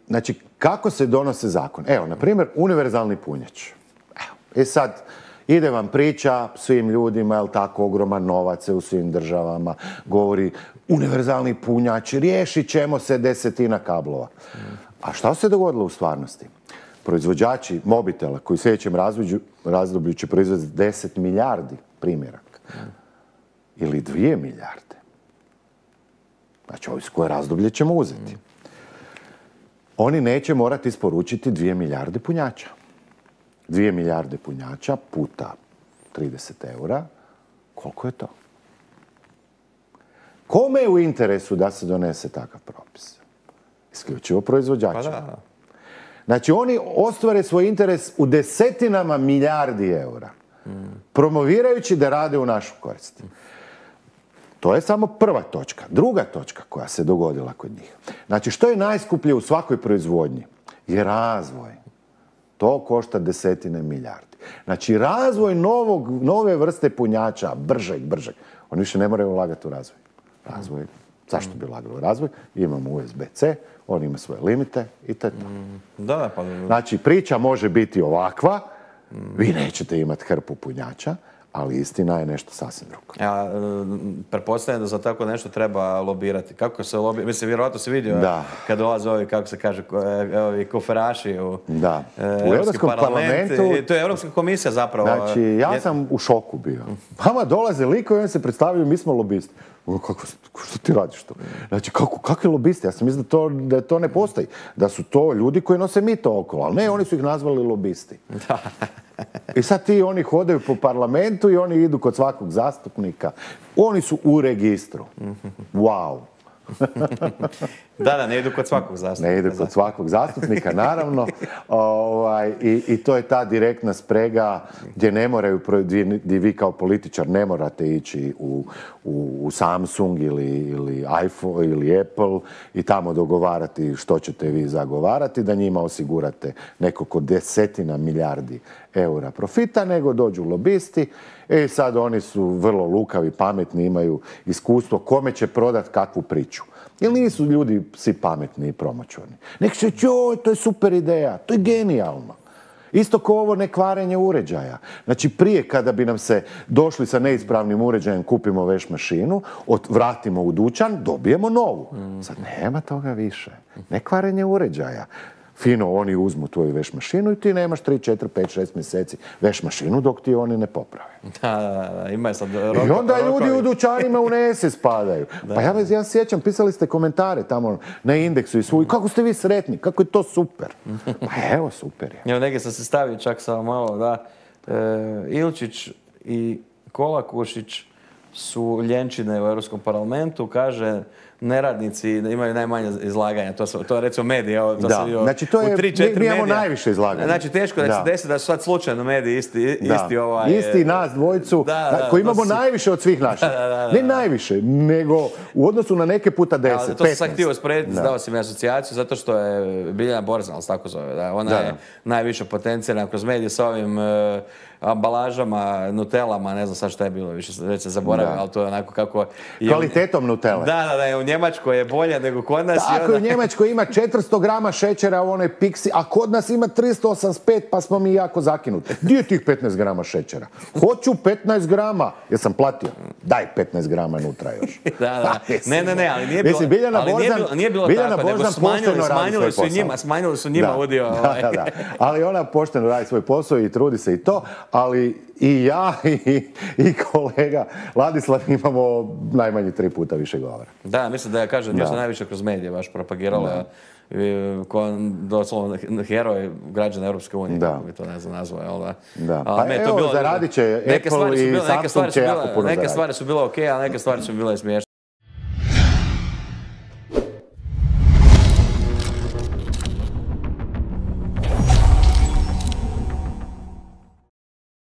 Znači, kako se donose zakon? Evo, na primjer, univerzalni punjač. Evo, sad, ide vam priča svim ljudima, je li tako, ogroman novac u svim državama, govori univerzalni punjač, riješit ćemo se 10 kablova. A šta se dogodilo u stvarnosti? Proizvođači mobitela koji u sljedećem razdoblju će proizvesti 10 milijardi primjeraka ili 2 milijarde. Znači, ovo koje razdoblje ćemo uzeti. Oni neće morati isporučiti 2 milijarde punjača. 2 milijarde punjača puta 30 eura, koliko je to? Kome je u interesu da se donese takav propis? Isključivo proizvođača. Znači, oni ostvare svoj interes u desetinama milijardi eura, promovirajući da rade u našu korist. To je samo prva točka. Druga točka koja se dogodila kod njih. Znači, što je najskuplje u svakoj proizvodnji? Je razvoj. To košta desetine milijardi. Znači, razvoj nove vrste punjača, bržeg. Oni više ne moraju ulagati u razvoj. Zašto bi ulagali u razvoj? Imamo USB-C, on ima svoje limite i to je to. Znači, priča može biti ovakva, vi nećete imati hrpu punjača, ali istina je nešto sasvim drugo. Ja pretpostavljam da za tako nešto treba lobirati. Kako se lobira? Mislim, vjerojatno se vidio kad dolaze ovi, kako se kaže, ovi koferaši u Europskom parlamentu. To je Europska komisija zapravo. Znači, ja sam u šoku bio. Vama dolaze likovi i oni se predstavljaju, mi smo lobisti. Što ti radiš to? Znači, kakvi lobisti? Ja sam mislio da to ne postoji. Da su to ljudi koji nose mito okolo. Ali ne, oni su ih nazvali lobisti. I sad oni hodaju po parlamentu i oni idu kod svakog zastupnika. Oni su u registru. Wow. Da, ne idu kod svakog zastupnika. Ne idu kod svakog zastupnika, naravno. I to je ta direktna sprega gdje ne moraju, gdje vi kao političar ne morate ići u Samsung ili iPhone ili Apple i tamo dogovarati što ćete vi zagovarati, da njima osigurate nekoliko desetina milijardi eura profita, nego dođu lobisti. I sad oni su vrlo lukavi, pametni, imaju iskustvo kome će prodati kakvu priču. Jer nisu ljudi svi pametni i promoćurni. Nek se joj, to je super ideja, to je genijalno. Isto kao ovo nekvarenje uređaja. Znači, prije kada bi nam se došli sa neispravnim uređajem, kupimo veš mašinu, vratimo u dućan, dobijemo novu. Sad nema toga više. Nekvarenje uređaja. Fino, oni uzmu tvoju veš mašinu i ti nemaš 3, 4, 5, 6 mjeseci veš mašinu dok ti oni ne poprave. Da, ima je sad I onda ljudi u dućanima u nese spadaju. Pa ja sjećam, pisali ste komentare tamo na Indeksu i svuj. Kako ste vi sretni? Kako je to super? Pa evo, super je. Evo, negdje sam se stavio čak samo malo, da. Ilčić i Kolakušić su ljenčine u Europskom parlamentu, kaže neradnici imaju najmanje izlaganja. To je recimo mediji. Znači to je, mi imamo najviše izlaganja. Znači teško da se desi da su sad slučajno mediji isti nas dvojicu, koji imamo najviše od svih naših. Ne najviše, nego u odnosu na neke puta 10, 15. To sam sad htio usporediti, dao si mi asocijaciju, zato što je Biljana Borzan, tako zove. Ona je najviše potencijana kroz medije sa ovim ambalažama, nutelama, ne znam sad šta je bilo, više već se zaboravio, ali to je onako kako... Kvalitetom nutele. Da, u Njemačkoj je bolje nego kod nas. Tako, u Njemačkoj ima 400 grama šećera u onoj piksi, a kod nas ima 385, pa smo mi jako zakinuti. Gdje je tih 15 grama šećera? Hoću 15 grama. Jesam platio? Daj 15 grama nutra još. Ne, ali nije bilo tako, nego smanjili su njima udio. Ali ona pošteno radi svoj posao i trudi se i to, ali i ja i kolega Ladislav imamo najmanje 3 puta više govora. Da, mislim da kaže da je najviše kroz medije baš propagirala doslovno heroj građana Europske unije, kako bi to ne znam nazvao, jel da? Pa evo, zaradit će Apple i Samsung će jako puno zaraditi. Neke stvari su bile okej, a neke stvari su bile smiješne.